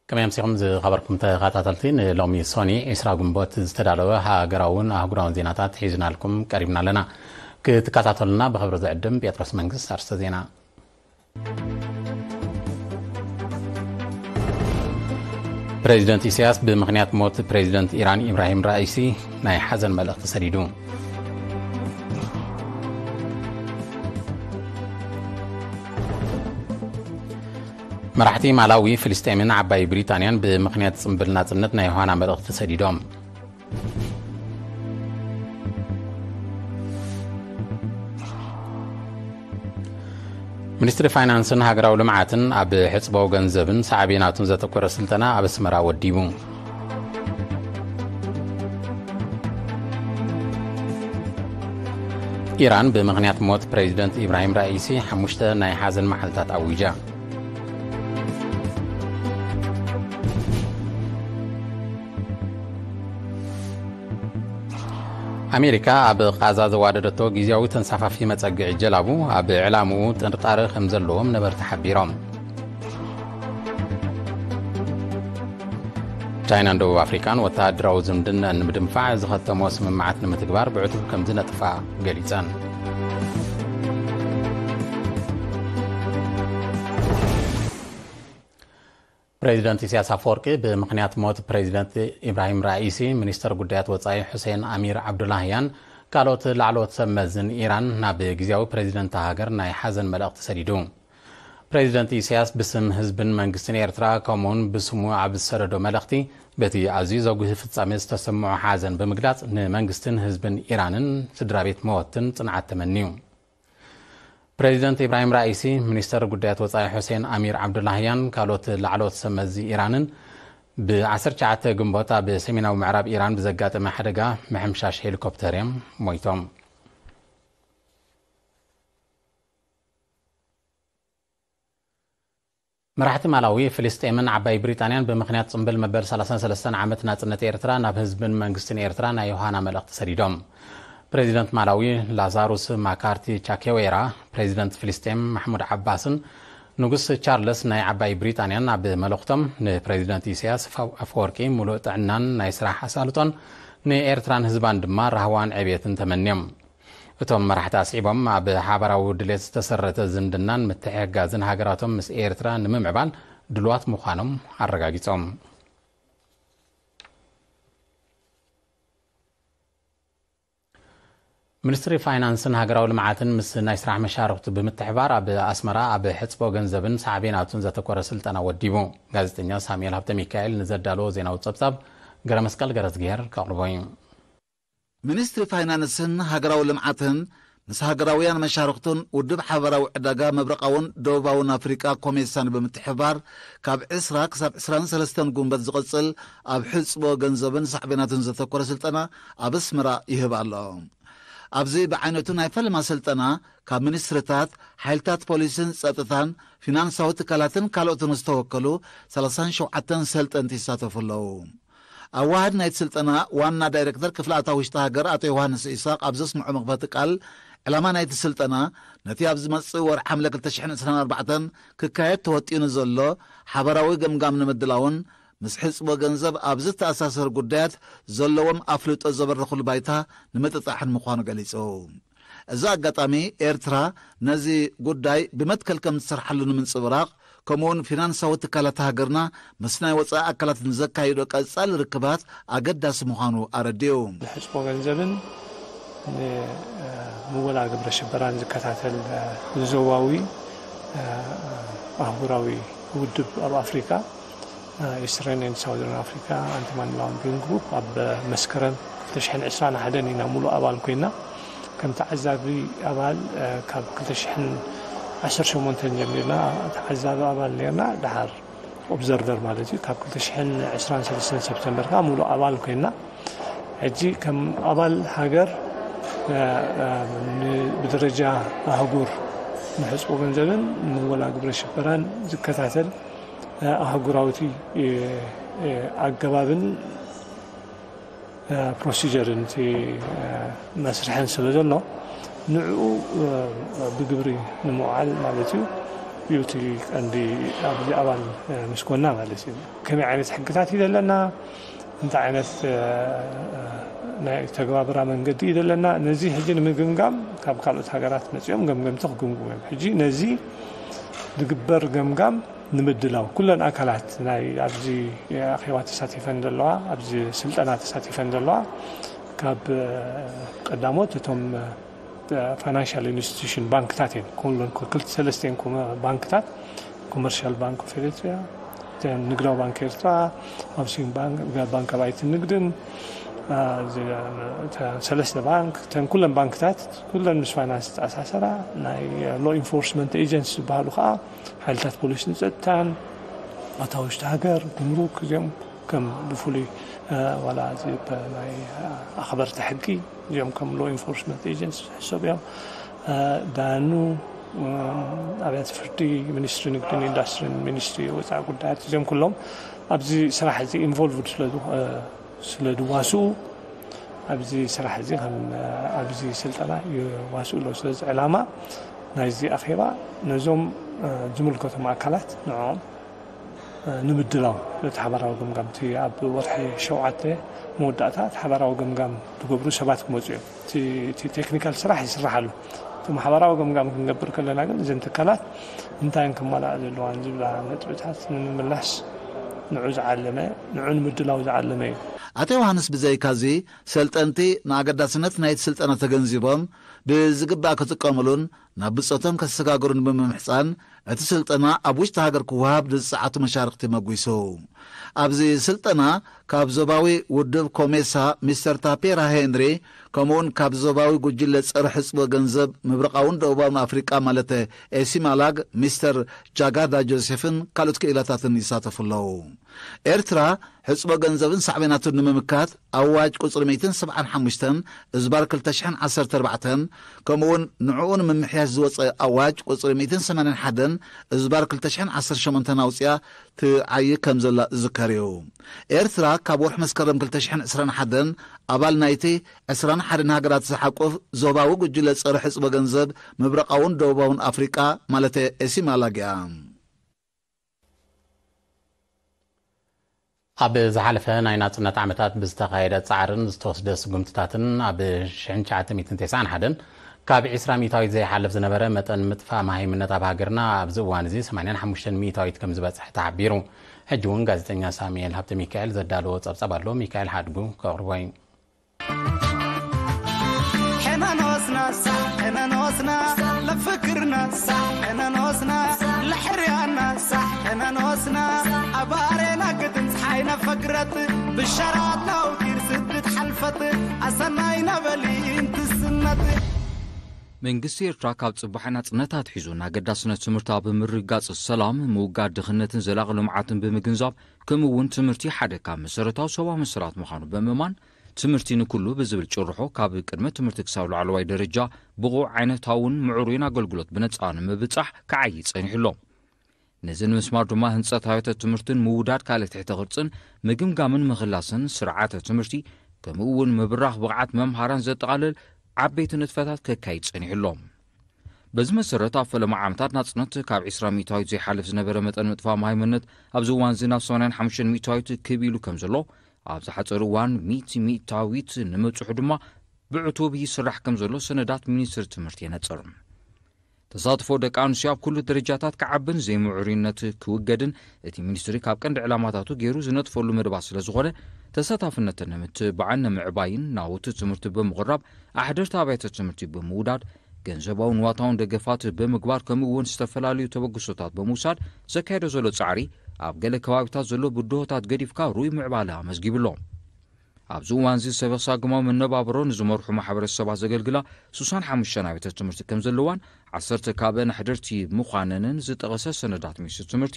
ከመይ ኣምሲኹም ዝኸበርኩም ተኸታተልቲ፣ ንሎሚ ሶኒ ዕስራ ግንቦት ዝተዳለወ ሃገራውን ኣህጉራውን ዜናታት ሒዝናልኩም ቀሪብና ኣለና። ክትከታተሉና ብኽብሪ ዝዕድም ጴጥሮስ መንግስት። ኣርስተ ዜና። ፕሬዚደንት ኢሳያስ ብምኽንያት ሞት ፕሬዚደንት ኢራን ኢብራሂም ራኢሲ ናይ ሓዘን መልእኽቲ ሰዲዱ። መራሕቲ ማላዊ፣ ፍልስጤምን ዓባይ ብሪጣንያን ብምኽንያት ጽምብል ናጽነት ናይ ዮሃና መልእኽቲ ሰዲዶም። ሚኒስትሪ ፋይናንስን ሃገራዊ ልምዓትን ኣብ ሕጽቦ ገንዘብን ሳዕቤናቱን ዘተኮረ ስልጠና ኣብ ኣስመራ ወዲቡ። ኢራን ብምኽንያት ሞት ፕሬዚደንት ኢብራሂም ራኢሲ ሓሙሽተ ናይ ሓዘን መዓልታት ኣዊጃ። ኣሜሪካ ኣብ ቃዛ ዘዋደደቶ ግዝያዊ ተንሳፋፊ መጸግዒ ጀላቡ ኣብ ዕላምኡ ጥርጣረ ከም ዘለዎም ነበርቲ ሓቢሮም። ቻይናን ደቡብ ኣፍሪካን ወተሃደራዊ ዝምድናን ንምድንፋዕ ዝኸተሞ ስምምዓት ንምትግባር ብዕቱብ ከም ዝነጥፋ ገሊጸን። ፕሬዚደንት ኢሳያስ ኣፈወርቂ ብምኽንያት ሞት ፕሬዚደንት ኢብራሂም ራኢሲ፣ ሚኒስተር ጉዳያት ወጻኢ ሑሴን ኣሚር ዓብዱላህያን ካልኦት ላዕለዎት ሰብ መዝን ኢራን ናብ ግዝያዊ ፕሬዚደንት ሃገር ናይ ሓዘን መልእኽቲ ሰዲዱ። ፕሬዚደንት ኢሳያስ ብስም ህዝብን መንግስትን ኤርትራ ከምኡውን ብስሙ ኣብ ዝሰደዶ መልእኽቲ፣ በቲ ኣዝዩ ዘጉህ ፍጻሜ ዝተሰምዖ ሓዘን ብምግላጽ፣ ንመንግስትን ህዝብን ኢራንን ስድራ ቤት መወትን ጽንዓት ተመንዩ። ፕሬዚደንት ኢብራሂም ራኢሲ፣ ሚኒስተር ጉዳያት ወጻኢ ሑሴን ኣሚር ዓብዱላህያን ካልኦት ላዕለዎት ሰብ መዚ ኢራንን ብ ዓሰርተ ትሽዓተ ግንቦት ኣብ ሰሜናዊ ምዕራብ ኢራን ብዘጋጠመ ሓደጋ ምሕምሻሽ ሄሊኮፕተር እዮም ሞይቶም። መራሕቲ ማላዊ፣ ፍልስጤምን ዓባይ ብሪጣንያን ብምኽንያት ጽምብል መበል ሰላሳን ሰለስተን ዓመት ናጽነት ኤርትራ ናብ ህዝብን መንግስትን ኤርትራ ናይ ዮሃና መልእኽቲ ሰዲዶም። ፕሬዚደንት ማላዊ ላዛሩስ ማካርቲ ቻኬዌራ፣ ፕሬዚደንት ፍልስጤም ማሕሙድ ዓባስን ንጉስ ቻርለስ ናይ ዓባይ ብሪጣንያን ኣብ መልእኽቶም፣ ንፕሬዚደንት ኢሳያስ ኣፈወርቂ ሙሉእ ጥዕናን ናይ ስራሕ ኣሳልጦን፣ ንኤርትራን ህዝባን ድማ ራህዋን ዕብየትን ተመንዮም። እቶም መራሕቲ ኣስዒቦም፣ ኣብ ሓባራዊ ድሌት ዝተሰረተ ዝምድናን ምትሕግጋዝን ሃገራቶም ምስ ኤርትራ ንምምዕባል ድሉዋት ምዃኖም ኣረጋጊጾም። ሚኒስትሪ ፋይናንስን ሃገራዊ ልምዓትን ምስ ናይ ስራሕ መሻርኽቱ ብምትሕባር ኣብ ኣስመራ ኣብ ሕጽቦ ገንዘብን ሳዕቤናቱን ዘተኮረ ስልጠና ወዲቡ። ጋዜጠኛ ሳሙኤል ሃብተ ሚካኤል ንዘዳለዎ ዜናዊ ጸብጻብ ገረ መስቀል ገረዝግሄር ከቕርቦ እዩ። ሚኒስትሪ ፋይናንስን ሃገራዊ ልምዓትን ምስ ሃገራውያን መሻርኽቱን ውድብ ሓበራዊ ዕዳጋ ምብራቓውን ደቡባውን ኣፍሪቃ ኮሜሳን ብምትሕብባር ካብ ዕስራ ክሳብ ዕስራን ሰለስተን ጉንበት ዝቕጽል ኣብ ሕጽቦ ገንዘብን ሳዕቤናቱን ዘተኮረ ስልጠና ኣብ ኣስመራ ይህብ ኣሎ። ኣብዚ ብዓይነቱ ናይ ፈለማ ስልጠና ካብ ሚኒስትርታት፣ ሓይልታት ፖሊስን ጸጥታን፣ ፊናንሳዊ ትካላትን ካልኦትን ዝተወከሉ ሰላሳን ሸውዓተን ሰልጠንቲ ይሳተፉ ኣለዉ። ኣዋሃድ ናይቲ ስልጠና ዋና ዳይሬክተር ክፍሊ ኣታዊ ውሽጢ ሃገር ኣቶ ዮሃንስ ኢሳቕ ኣብ ዘስምዖ መኽፈቲ ቃል፣ ዕላማ ናይቲ ስልጠና ነቲ ኣብ ዝመጽእ ወርሒ ሓምለ ክልተ ሽሕን ዕስራን ኣርባዕተን ክካየድ ተወጢኑ ዘሎ ሓበራዊ ገምጋም ንምድላውን ምስ ሕጽቦ ገንዘብ ኣብ ዝተኣሳሰር ጉዳያት ዘለዎም ኣፍልጦ ዘበርኽሉ ባይታ ንምጥጣሕን ምዃኑ ገሊጹ። እዚ ኣጋጣሚ ኤርትራ ነዚ ጉዳይ ብመትከል ከም ትሰርሓሉ ንምንጽብራቕ፣ ከምኡውን ፊናንሳዊ ትካላት ሃገርና ምስ ናይ ወጻኢ ኣካላት ንዘካይዶ ቀጻሊ ርክባት ኣገዳሲ ምዃኑ ኣረዲኡ። ሕጽቦ ገንዘብን ንምወላ ግብረ ሽበራን ዝከታተል ዝዘዋዊ ኣህጉራዊ ውድብ ኣብ ኣፍሪካ፣ ኢስተርን ኤንድ ሳውዘርን ኣፍሪካ ኣንቲ ማኒ ላውንድሪንግ ግሩፕ፣ ኣብ መስከረም ክልተ ሽሕን ዕስራን ሓደን ኢና ሙሉእ ኣባል ኮይና። ከም ተዓዛቢ ኣባል፣ እ፣ ካብ ክልተ ሽሕን ዓሰርተ ሸሞንተን ጀሚርና ተዓዛቢ ኣባል ነርና። ደሓር ኦብዘርቨር ማለት እዩ። ካብ ክልተ ሽሕን ዕስራን ሰለስተን ሰፕተምበር ከዓ ሙሉእ ኣባል ኮይና። ሕጂ ከም ኣባል ሃገር፣ እ፣ እ፣ ን-፣ ብደረጃ ኣህጉር ንሕጽቦ ገንዘብን ምወላ ግብረ ሽበራን ዝከታተል፣ እ፣ ኣህጉራዊ፣ እ፣ እ፣ ኣገባብን ፕሮሲጀርን እቲ መስርሕን ስለ ዘሎ፣ ንዕኡ ብግብሪ ንምውዓል ማለት እዩ። እዩ እቲ ቀንዲ ኣብዚ ኣባል፣ እ፣ ምስ ኮና ማለት እዩ። ከመይ ዓይነት ሕግታት እዩ ዘለና፣ እንታይ ዓይነት፣ እ፣ እ፣ ናይ ተግባብራ መንገዲ እዩ ዘለና፣ ነዚ ሕጂ ንምግምጋም ካብ ካልኦት ሃገራት መጺኦም ገምገምቲ ክግምግሙ እዮም። ሕጂ ነዚ ዝግበር ገምጋም ንምድላው ኩለን ኣካላት ናይ ኣብዚ ኣኼባ ተሳቲፈን ዘለዋ፣ ኣብዚ ስልጠና ተሳቲፈን ዘለዋ ካብ፣ እ፣ ቀዳሞት እቶም፣ እ፣ ፋይናንሻል ኢንስቲትዩሽን ባንክታት እየን። ኩለን ክልተ ሰለስተ እየን ኮመ-፣ ባንክታት፣ ኮመርሻል ባንክ ኦፍ ኤሪትሪያ፣ እተን ንግዳዊ ባንክ ኤርትራ፣ ሃውሲንግ ባንክ፣ ባንክ ኣባይቲ ንግድን፣ እ፣ እዚ፣ እ፣ ሰለስተ ባንክ፣ እተን ኩለን ባንክታት ኩለን ምስ ፋይናንስ ዝተኣሳሰራ፣ ናይ ሎ ኢንፎርስመንት ኤጀንሲ ዝበሃሉ ከዓ ሓይልታት ፖሊስን ጸጥታን፣ ኣታ ውሽጢ ሃገር፣ ጉምሩክ፣ እዚኦም ከም ብፍሉይ፣ እ፣ ዋላ እዚ ብ-፣ ናይ ኣኽበርቲ ሕጊ፣ እዚኦም ከም ሎ ኢንፎርስመንት ኤጀንሲ ዝሕሰቡ እዮም። እ፣ ዳኑ፣ እ፣ ኣብያተ ፍርዲ፣ ሚኒስትሪ ንግድን ኢንዱስትሪን፣ ሚኒስትሪ ወፃኢ ጉዳያት፣ እዚኦም ኩሎም ኣብዚ ስራሕ እዚ ኢንቮልቭድ ስለ ዝኮ-፣ እ፣ ስለ ዝዋስኡ፣ ኣብዚ ስራሕ እዚ ከም፣ እ፣ ኣብዚ ስልጠና ይዋስኡ ኣለዉ። ስለዚ ዕላማ ናይዚ ኣኼባ ነዞም፣ እ፣ ዝምልከቶም ኣካላት ንዕኦም፣ እ፣ ንምድላው ነቲ ሓባራዊ ገምጋም፣ እቲ ኣብ ወርሒ ሸውዓተ መወዳእታ እቲ ሓባራዊ ገምጋም ዝገብሩ ሰባት ክመፁ እዮም። እቲ፣ እቲ ቴክኒካል ስራሕ ይስራሕ ኣሎ። እቲ ሓባራዊ ገምጋም ክንገብር ከለና ግን እዘን ትካላት እንታይ እየን ክመላኣ ዘለዋን ዝብላ ነጥብታት ንምምላስ ንዑ ዝዓለመ፣ ንዑ ንምድላው ዝዓለመ እዩ። ኣቶ ዮሃንስ ብዘይካዚ ሰልጠንቲ ንኣገዳስነት ናይቲ ስልጠና ተገንዚቦም ብዝግባእ ክጥቀምሉን ናብ ብጾቶም ከሰጋግሩን ብምምሕጻን እቲ ስልጠና ኣብ ውሽጢ ሃገር ክወሃብ ዝጸዓቱ መሻርክቲ መጒሱ። ኣብዚ ስልጠና ካብ ዞባዊ ውድብ ኮሜሳ ሚስተር ታፔራ ሄንሪ ከምኡውን ካብ ዞባዊ ጉጅለ ጸረ ሕጽቦ ገንዘብ ምብራቓውን ደቡባውን ኣፍሪቃ ማለት ኤሲማላግ ሚስተር ጃጋዳ ጆሴፍን ካልኦት ክኢላታትን ይሳተፉ ኣለዉ። ኤርትራ ሕጽቦ ገንዘብን ሳዕቤናቱን ንምምካት ኣዋጅ ቁጽሪ ሚእትን ሰብዓን ሓሙሽተን እዝባር ክልተ ሽሕን ዓሰርተ ኣርባዕተን ከምኡውን ንዕኡ ንምምሕያሽ ዝወጸ ኣዋጅ ቁጽሪ ሚእትን ሰማንያን ሓደን እዝባር ክልተ ሽሕን ዓሰርተ ሸሞንተን ኣውጽያ ትዓይ ከም ዘላ ዝዝከር እዩ። ኤርትራ ካብ ወርሒ መስከረም ክልተ ሽሕን ዕስራን ሓደን ኣባል ናይቲ ዕስራን ሓደን ሃገራት ዝሓቁፍ ዞባዊ ጉጅለ ጸረ ሕጽቦ ገንዘብ ምብራቓውን ደቡባውን ኣፍሪቃ ማለት ኤሲማላግ እያ። ኣብ ዝሓለፈ ናይ ናጽነት ዓመታት ብዝተኻየደ ጻዕርን ዝተወስደ ስጉምትታትን ኣብ ሽሕን ትሽዓተ ሚእትን ተስዓን ሓደን ካብ ዒስራ ሚእታዊት ዘይሓልፍ ዝነበረ መጠን ምጥፋእ መሃይምነት ኣብ ሃገርና ኣብዚ እዋን እዚ ሰማንያን ሓሙሽተን ሚእታዊት ከም ዝበጽሐ ተሓቢሩ። ሕጂ እውን ጋዜጠኛ ሳሙኤል ሃብተ ሚካኤል ዘዳለዎ ጸብጻብ ኣሎ። ሚካኤል ሓድጉ ከቕርቦ እዩ። ሕነኖስና ሳዕ ሕነኖስና ለፍክርና ሳዕ ሕነኖስና ለሕርያና ሳዕ ሕነኖስና ኣባሬና ግድን ፀሓይ ነፈግረት ብሻራት ናውቲር ስድት ሓልፈት ኣሰናይ ነበሊ እንትስነት። መንግስቲ ኤርትራ ካብ ጽባሕ ናጽነት ኣትሒዙ ንኣገዳስነት ትምህርቲ ኣብ ምርግጋጽ ሰላም፣ ምውጋድ ድኽነትን ዘላቒ ልምዓትን ብምግንዛብ፣ ከምኡ እውን ትምህርቲ ሓደ ካብ መሰረታዊ ሰብኣዊ መሰላት ምዃኑ ብምእማን፣ ትምህርቲ ንኩሉ ብዝብል ጭርሖ ካብ ቅድመ ትምህርቲ ክሳብ ላዕለዋይ ደረጃ ብቑዕ ዓይነታውን ምዕሩይን ኣገልግሎት ብነጻ ንምብጻሕ ክዓዪ ጸኒሑ ኣሎ። ነዚ ንምስማር ድማ ህንጸት ኣብያተ ትምህርትን ምውዳድ ካልእ ትሕተ ቅርጽን ምግምጋምን ምኽላስን ስርዓተ ትምህርቲ ከምኡ እውን ምብራኽ ብቕዓት መምሃራን ዘጠቓልል ዓበይቲ ንጥፈታት ከካይድ ጸኒሑ ኣሎ። በዚ መሰረት ኣብ ፈለማ ዓመታት ናጽነት ካብ ዒስራ ሚእታዊት ዘይሓልፍ ዝነበረ መጠን ምጥፋእ መሃይምነት ኣብዚ እዋን እዚ ናብ ሰማንያን ሓሙሽተን ሚእታዊት ክብ ኢሉ ከም ዘሎ፣ ኣብ ዝሓጸረ እዋን ሚእቲ ሚእታዊት ንምብጽሑ ድማ ብዕቱብ ይስራሕ ከም ዘሎ ሰነዳት ሚኒስትሪ ትምህርቲ የነጽር። ተሳትፎ ደቂ ኣንስትዮ ኣብ ኩሉ ደረጃታት ክዓብን ዘይምዕሩይነት ክውገድን እቲ ሚኒስትሪ ካብ ቀንዲ ዕላማታቱ ገይሩ ዝነጥፈሉ መደባት ስለ ዝኾነ፣ ተሳታፍነተን ንምትብባዕን ንምዕባይን ናውቲ ትምህርቲ ብምቕራብ ኣሕደርቲ ኣብያተ ትምህርቲ ብምውዳድ ገንዘባውን ንዋታውን ደገፋት ብምግባር ከምኡ እውን ዝተፈላለዩ ተበግሶታት ብምውሳድ ዘካየዶ ዘሎ ጻዕሪ ኣብ ገለ ከባቢታት ዘሎ ብድሆታት ገዲፍካ ሩይ ምዕባለ ኣመዝጊቡ ኣሎ። ኣብዚ እዋን እዚ ሰበ ሳግማዊ መነባብሮ ንዝመርሑ ማሕበረሰባት ዘገልግላ ሱሳን ሓሙሽተ ኣብያተ ትምህርቲ ከም ዘለዋን ዓሰርተ ካብአን ኣሕደርቲ ምዃነንን ዝጠቐሰ ሰነዳት ሚኒስትሪ ትምህርቲ፣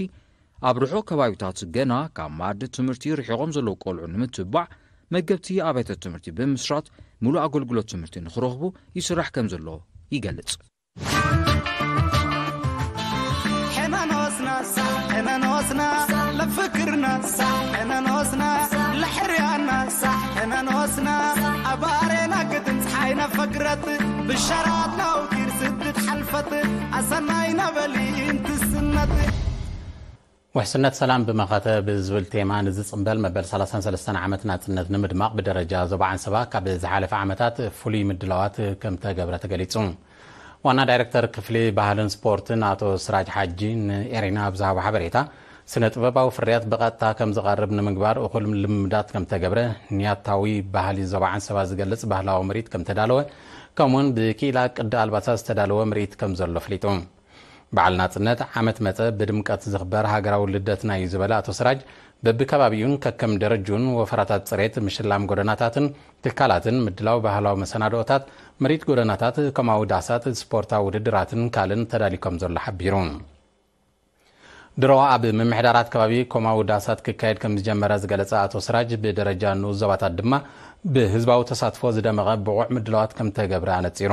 ኣብ ርሑቕ ከባቢታት ገና ካብ መኣዲ ትምህርቲ ርሒቖም ዘለዉ ቆልዑ ንምትብባዕ መገብቲ ኣብያተ ትምህርቲ ብምስራት ሙሉእ ኣገልግሎት ትምህርቲ ንኽረኽቡ ይስራሕ ከም ዘሎ ይገልጽ። ሕነኖስና ሳዕ ሕነኖስና ለፍክርና ሳዕ ሕነኖስና ለሕርያና ሳዕ ሕነኖስና ኣባሬና ግድን ፀሓይ ነፈግረት ብሻራት ናውቲር ስድት ሓልፈ ፈት ኣሰናይ ነበሊ እንትስነት። ውሕስነት ሰላም ብመኸተ ብዝብል ቴማ ንዝጽምበል መበል ሰላሳን ሰለስተን ዓመት ናጽነት ንምድማቕ ብደረጃ ዞባ ዓንሰባ ካብ ዝሓለፈ ዓመታት ፍሉይ ምድላዋት ከም ተገብረ ተገሊጹ። ዋና ዳይሬክተር ክፍሊ ባህልን ስፖርትን ኣቶ ስራጅ ሓጂ ንኤሪና ኣብ ዝሃቦ ሓበሬታ፣ ስነ ጥበባዊ ፍርያት ብቐጥታ ከም ዝቐርብ ንምግባር እኹል ልምምዳት ከም ተገብረ፣ ንያታዊ ባህሊ ዞባ ዓንሰባ ዝገልጽ ባህላዊ ምርኢት ከም ተዳለወ፣ ከምኡውን ብክኢላ ቅዲ ኣልባሳት ዝተዳለወ ምርኢት ከም ዘሎ ኣፍሊጡ። በዓል ናጽነት ዓመት መጸ ብድምቀት ዝኽበር ሃገራዊ ልደትና እዩ ዝበለ ኣቶ ስራጅ፣ በብከባቢኡን ከከም ደረጅኡን ወፈራታት ጽሬት፣ ምሽላም ጎደናታትን ትካላትን፣ ምድላው ባህላዊ መሰናድኦታት፣ ምርኢት ጎደናታት፣ ኮማዊ ዳሳት፣ ስፖርታዊ ውድድራትን ካልእን ተዳልዩ ከም ዘሎ ሓቢሩ። ድሮ ኣብ ምምሕዳራት ከባቢ ኮማዊ ዳሳት ክካየድ ከም ዝጀመረ ዝገለጸ ኣቶ ስራጅ፣ ብደረጃ ንኡስ ዞባታት ድማ ብህዝባዊ ተሳትፎ ዝደመቐ ብቑዕ ምድላዋት ከም ተገብረ ኣነጺሩ።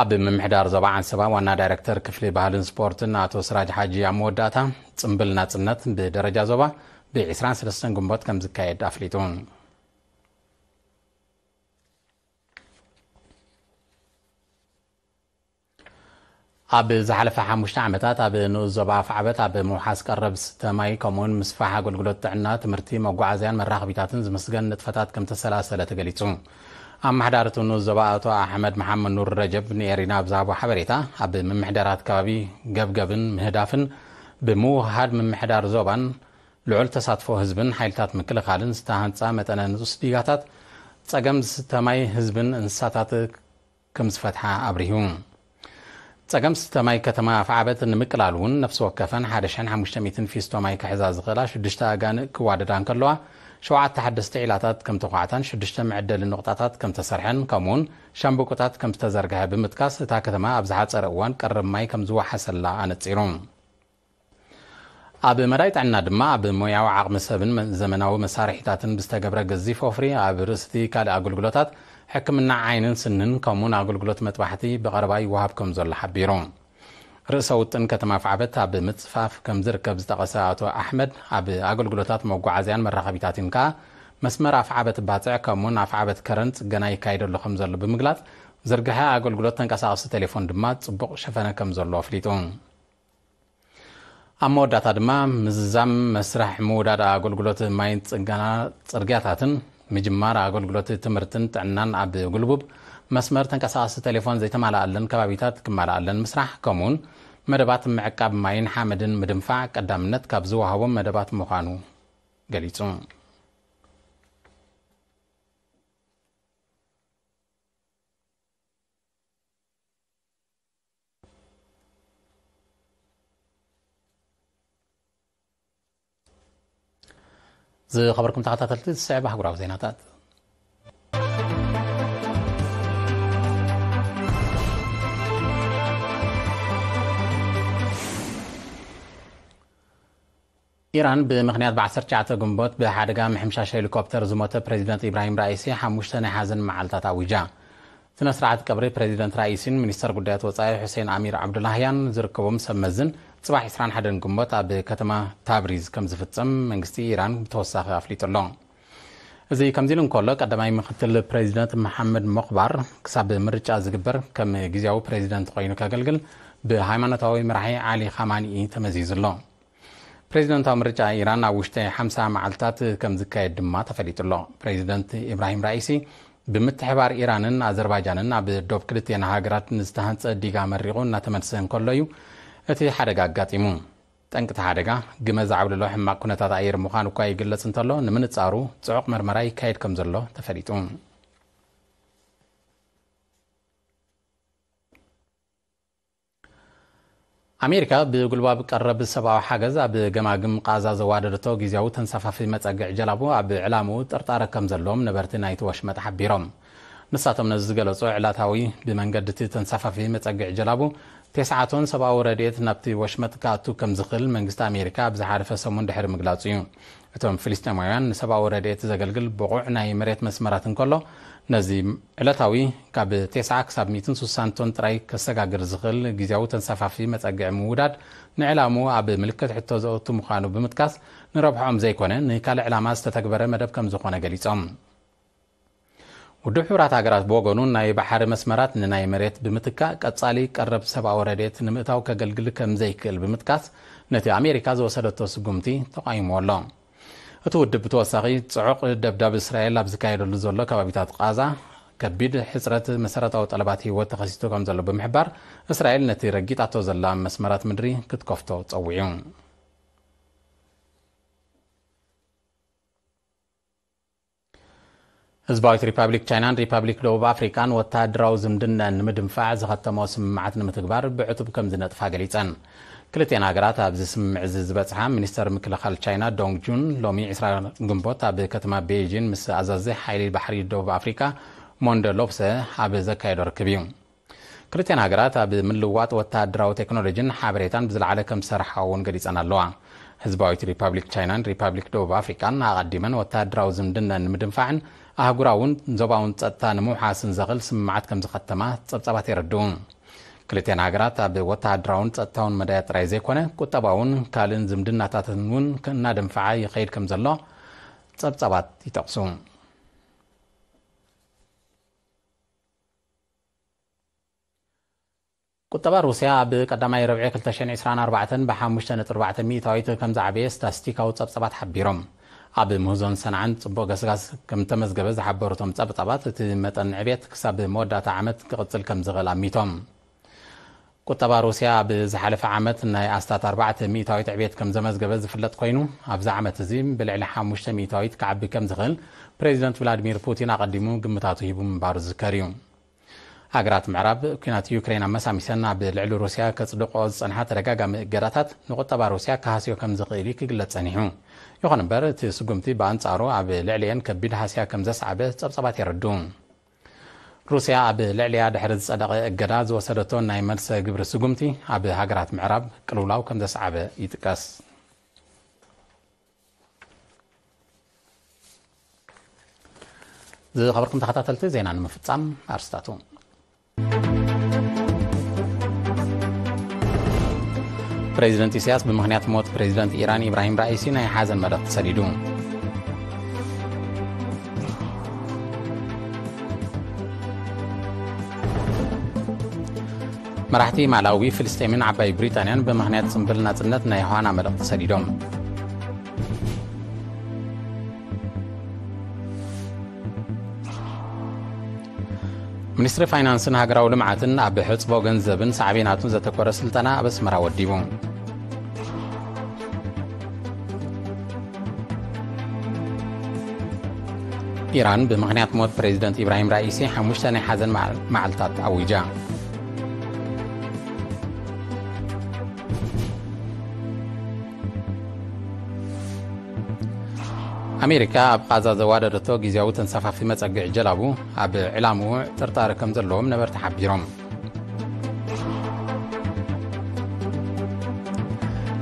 ኣብ ምምሕዳር ዞባ ዓንሰባ ዋና ዳይሬክተር ክፍሊ ባህልን ስፖርትን ኣቶ ስራጅ ሓጂ ኣብ መወዳእታ፣ ጽምብል ናጽነት ብደረጃ ዞባ ብ ዕስራን ሰለስተን ግንቦት ከም ዝካየድ ኣፍሊጡ። ኣብ ዝሓለፈ ሓሙሽተ ዓመታት ኣብ ንኡስ ዞባ ኣፍዓበት ኣብ ምውሓስ ቀረብ ስተ ማይ ከምኡውን ምስፋሕ ኣገልግሎት ጥዕና፣ ትምህርቲ፣ መጓዓዝያን መራኸቢታትን ዝምስገን ንጥፈታት ከም ተሰላሰለ ተገሊጹ። ኣመሓዳሪ እቲ ንኡስ ዞባ ኣቶ ኣሕመድ መሓመድ ኑር ረጀብ ንኤሪና ኣብ ዝሃቦ ሓበሬታ፣ ኣብ ምምሕዳራት ከባቢ ገብገብን ምህዳፍን ብምውህሃድ ምምሕዳር ዞባን ልዑል ተሳትፎ ህዝብን ሓይልታት ምክልኻልን ዝተሃንጻ መጠነ ንኡስ ዲጋታት ጸገም ዝስተ ማይ ህዝብን እንስሳታት ከም ዝፈትሓ ኣብሪሁ። ጸገም ዝስተ ማይ ከተማ ኣፍዓበት ንምቅላል እውን ነፍሲ ወከፈን ሓደ ሽሕን ሓሙሽተ ሚእትን ፊስቶ ማይ ክሕዛ ዝኽእላ ሽዱሽተ ኣጋንእ ክዋደዳ እንከለዋ፣ ሸውዓተ ሓደስቲ ዒላታት ከም ተኳዕታን ሽዱሽተ መዐደሊ ኑቕጣታት ከም ተሰርሐን ከምኡውን ሻምብቆታት ከም ዝተዘርግሐ ብምጥቃስ፣ እታ ከተማ ኣብ ዝሓጸረ እዋን ቀረብ ማይ ከም ዝወሓሰላ ኣነጺሩ። ኣብ መዳይ ጥዕና ድማ ኣብ ሞያዊ ዓቕሚ ሰብን መ-፣ ዘመናዊ መሳርሒታትን ብዝተገብረ ገዚፍ ወፍሪ ኣብ ርእሲ እቲ ካልእ ኣገልግሎታት ሕክምና ዓይንን ስንን ከምኡውን ኣገልግሎት መጥባሕቲ ብቐረባ ይወሃብ ከም ዘሎ ሓቢሩ። ርእሰ ውጥን ከተማ ኣፍዓበት ኣብ ምጽፋፍ ከም ዝርከብ ዝጠቐሰ ኣቶ ኣሕመድ፣ ኣብ ኣገልግሎታት መጓዓዝያን መራኸቢታትን ከኣ መስመር ኣፍዓበት ባጽዕ ከምኡውን ኣፍዓበት ከረን ጽገና ይካየደሉ ከም ዘሎ ብምግላጽ፣ ዝርግሐ ኣገልግሎት ተንቀሳቐሲ ቴሌፎን ድማ ጽቡቕ ሸፈነ ከም ዘሎ ኣፍሊጡ። ኣብ መወዳእታ ድማ ምዝዛም መስርሕ ምውዳድ ኣገልግሎት ማይን ጽገና ጽርግያታትን፣ ምጅማር ኣገልግሎት ትምህርትን ጥዕናን ኣብ ጉልቡብ መስመር ተንቀሳቐሲ ቴሌፎን ዘይተማልኣለን ከባቢታት ክማልኣለን ምስራሕ፣ ከምኡውን መደባት ምዕቃብ ማይን ሓመድን ምድንፋዕ ቀዳምነት ካብ ዝወሃቦም መደባት ምዃኑ ገሊጹ። ዝኸበርኩም ተኸታተልቲ፣ ዝስዕብ ኣህጉራዊ ዜናታት። ኢራን ብምኽንያት ብ ዓሰርተ ትሽዓተ ግንቦት ብሓደጋ ምሕምሻሽ ሄሊኮፕተር ዝሞተ ፕሬዚደንት ኢብራሂም ራኢሲ ሓሙሽተ ናይ ሓዘን መዓልታት ኣዊጃ። ስነ ስርዓት ቀብሪ ፕሬዚደንት ራኢሲን ሚኒስተር ጉዳያት ወጻኢ ሑሴን ኣሚር ዓብዱላህያን ዝርከቦም ሰብ መዝን ጽባሕ ዕስራን ሓደን ግንቦት ኣብ ከተማ ታብሪዝ ከም ዝፍጸም መንግስቲ ኢራን ብተወሳኺ ኣፍሊጡ ኣሎ። እዚ ከምዚ ኢሉ እንከሎ፣ ቀዳማይ ምክትል ፕሬዚደንት መሓመድ ሞኽባር ክሳብ ምርጫ ዝግበር ከም ግዝያዊ ፕሬዚደንት ኮይኑ ከገልግል ብሃይማኖታዊ መራሒ ዓሊ ኻማኒኢ ተመዚዙ ኣሎ። ፕሬዚደንታዊ ምርጫ ኢራን ኣብ ውሽጢ ሓምሳ መዓልታት ከም ዝካየድ ድማ ተፈሊጡ ኣሎ። ፕሬዚደንት ኢብራሂም ራኢሲ ብምትሕባር ኢራንን ኣዘርባይጃንን ኣብ ዶብ ክልቲኤን ሃገራት ንዝተሃንጸ ዲጋ መሪቑ እናተመልሰ እንከሎ እዩ እቲ ሓደጋ ኣጋጢሙ። ጠንቂ እቲ ሓደጋ ግመ ዘዓብለሎ ሕማቕ ኩነታት ኣየር ምዃኑ እኳ ይግለጽ እንተሎ፣ ንምንጻሩ ጽዑቕ መርመራ ይካየድ ከም ዘሎ ተፈሊጡ። ኣሜሪካ ብጉልባብ ቀረብ ሰብኣዊ ሓገዝ ኣብ ገማግም ቃዛ ዘዋደደቶ ግዝያዊ ተንሳፋፊ መጸግዒ ጀላቡ ኣብ ዕላምኡ ጥርጣረ ከም ዘለዎም ነበርቲ ናይቲ ወሽመጥ ሓቢሮም። ንሳቶም ነዚ ዝገለጹ፣ ዕላታዊ ብመንገዲ እቲ ተንሳፋፊ መጸግዒ ጀላቡ ቴስዓ ቶን ሰብኣዊ ረድኤት ናብቲ ወሽመጥ ክኣቱ ከም ዝኽእል መንግስቲ ኣሜሪካ ኣብ ዝሓለፈ ሰሙን ድሕሪ ምግላጹ እዩ። እቶም ፍልስጤማውያን ንሰብኣዊ ረድኤት ዘገልግል ብቑዕ ናይ መሬት መስመራት እንከሎ፣ ነዚ ዕለታዊ ካብ ቴስዓ ክሳብ ሚእትን ስሳን ቶን ጥራይ ከሰጋግር ዝኽእል ግዝያዊ ተንሳፋፊ መጸግዒ ምውዳድ ንዕላምኡ ኣብ ምልክት ሕቶ ዘእቱ ምዃኑ ብምጥቃስ፣ ንረብሕኦም ዘይኮነ ንካልእ ዕላማ ዝተተግበረ መደብ ከም ዝኾነ ገሊጾም። ውድብ ሕቡራት ሃገራት ብወገኑ፣ ናይ ባሕሪ መስመራት ንናይ መሬት ብምትካእ፣ ቀጻሊ ቀረብ ሰብኣዊ ረድኤት ንምእታው ከገልግል ከም ዘይክእል ብምጥቃስ፣ ነቲ ኣሜሪካ ዝወሰደቶ ስጉምቲ ተቓይምዎ ኣሎ። እቲ ውድብ ብተወሳኺ፣ ጽዑቕ ደብዳብ እስራኤል ኣብ ዝካየደሉ ዘሎ ከባቢታት ቃዛ፣ ከቢድ ሕጽረት መሰረታዊ ጠለባት ህይወት ተኸሲቱ ከም ዘሎ ብምሕባር፣ እስራኤል ነቲ ረጊጣቶ ዘላ መስመራት ምድሪ ክትከፍቶ ጸዊዑ። ህዝባዊት ሪፓብሊክ ቻይናን ሪፓብሊክ ደቡብ ኣፍሪቃን ወተሃደራዊ ዝምድነን ንምድንፋዕ ዝኸተሞ ስምምዓት ንምትግባር ብዕቱብ ከም ዝነጥፋ ገሊጸን። ክልቲኣን ሃገራት ኣብዚ ስምምዕ እዚ ዝበጽሓ፣ ሚኒስተር ምክልኻል ቻይና ዶንግ ጁን ሎሚ ዕስራ ግንቦት ኣብ ከተማ ቤይጂን ምስ ኣዛዚ ሓይሊ ባሕሪ ደቡብ ኣፍሪቃ ሞንደ ሎፕሰ ኣብ ዘካየዶ ርክብ እዩ። ክልቲኣን ሃገራት ኣብ ምልውዋጥ ወተሃደራዊ ቴክኖሎጂን ሓበሬታን ብዝለዓለ ከም ዝሰርሓ እውን ገሊጸን ኣለዋ። ህዝባዊት ሪፓብሊክ ቻይናን ሪፓብሊክ ደቡብ ኣፍሪቃን ኣቐዲመን ወተሃደራዊ ዝምድነን ንምድንፋዕን ኣህጉራውን ዞባውን ጸጥታ ንምውሓስን ዘኽእል ስምምዓት ከም ዝኸተማ ጸብጻባት የረድኡ። ክልቲኣን ሃገራት ኣብ ወተሃደራውን ጸጥታውን መዳያት ጥራይ ዘይኮነ፣ ቁጠባውን ካልእን ዝምድናታትን እውን እናደንፈዓ ይኸይድ ከም ዘሎ ጸብጻባት ይጠቕሱ። ቁጠባ ሩስያ ኣብ ቀዳማይ ረብዒ ክልተ ሽሕን ዕስራን ኣርባዕተን ብ ሓሙሽተ ነጥቢ ኣርባዕተ ሚእታዊት ከም ዝዓበየ ስታስቲካዊ ጸብጻባት ሓቢሮም። ኣብ ምህዞን ሰንዓን ጽቡቕ ገስጋስ ከም ተመዝገበ ዝሓበሩ እቶም ጸብጻባት፣ እቲ መጠን ዕብየት ክሳብ መወዳእታ ዓመት ክቕጽል ከም ዝኽእል ኣሚቶም። ቁጠባ ሩስያ ኣብ ዝሓለፈ ዓመት ናይ ኣስታት ኣርባዕተ ሚእታዊት ዕብየት ከም ዘመዝገበ ዝፍለጥ ኮይኑ፣ ኣብዚ ዓመት እዚ ብልዕሊ ሓሙሽተ ሚእታዊት ክዓቢ ከም ዝኽእል ፕሬዚደንት ቭላዲሚር ፑቲን ኣቐዲሙ ግምታቱ ሂቡ ምንባሩ ዝዝከር እዩ። ሃገራት ምዕራብ፣ ኲናት ዩክሬን ኣመሳሚሰን ኣብ ልዕሊ ሩስያ ከጽድቆ ዝጸንሓ ተደጋጋሚ እገዳታት፣ ንቁጠባ ሩስያ ክሃስዮ ከም ዝኽእል እዩ ክግለጽ ጸኒሑ። ይኹን እምበር፣ እቲ ስጉምቲ ብኣንጻሩ ኣብ ልዕሊኤን ከቢድ ሃስያ ከም ዘስዓበ ጸብጻባት የረድኡ። ሩስያ ኣብ ልዕሊኣ ድሕሪ ዝጸደቐ እገዳ ዝወሰደቶ ናይ መልሰ ግብሪ ስጉምቲ፣ ኣብ ሃገራት ምዕራብ ቅልውላው ከም ዘስዓበ ይጥቀስ። ዝኸበርኩም ተኸታተልቲ፣ ዜና ንምፍጻም ኣርስታቱ። ፕሬዚደንት ኢሳያስ ብምኽንያት ሞት ፕሬዚደንት ኢራን ኢብራሂም ራኢሲ ናይ ሓዘን መልእኽቲ ሰዲዱ። መራሕቲ ማላዊ፣ ፍልስጤምን ዓባይ ብሪጣንያን ብምኽንያት ጽምብል ናጽነት ናይ ዮሃና መልእኽቲ ሰዲዶም። ሚኒስትሪ ፋይናንስን ሃገራዊ ልምዓትን ኣብ ሕጽቦ ገንዘብን ሳዕቤናቱን ዘተኮረ ስልጠና ኣብ ኣስመራ ወዲቡ። ኢራን ብምኽንያት ሞት ፕሬዚደንት ኢብራሂም ራኢሲ ሓሙሽተ ናይ ሓዘን መዓል-፣ መዓልታት ኣዊጃ። ኣሜሪካ ኣብ ቓዛ ዘዋደደቶ ግዝያዊ ተንሳፋፊ መጸግዒ ጀላቡ ኣብ ዕላምኡ ጥርጣረ ከም ዘለዎም ነበርቲ ሓቢሮም።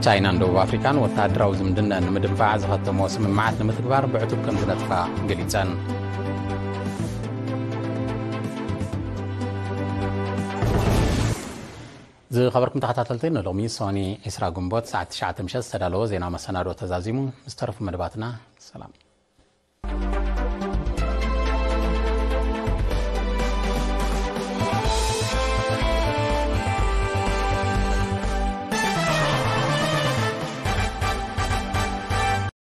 ቻይናን ደቡብ ኣፍሪካን ወተሃደራዊ ዝምድነን ንምድንፋዕ ዝኸተሞ ስምምዓት ንምትግባር ብዕቱብ ከም ዝነጥፋ ገሊጸን። ዝኸበርኩም ተኸታተልቲ፣ ንሎሚ ሶኒ ዕስራ ግንቦት ሰዓት ትሽዓተ ምሸት ዝተዳለወ ዜና መሰናዶ ተዛዚሙ። ምስ ተረፉ መደባትና ሰላም።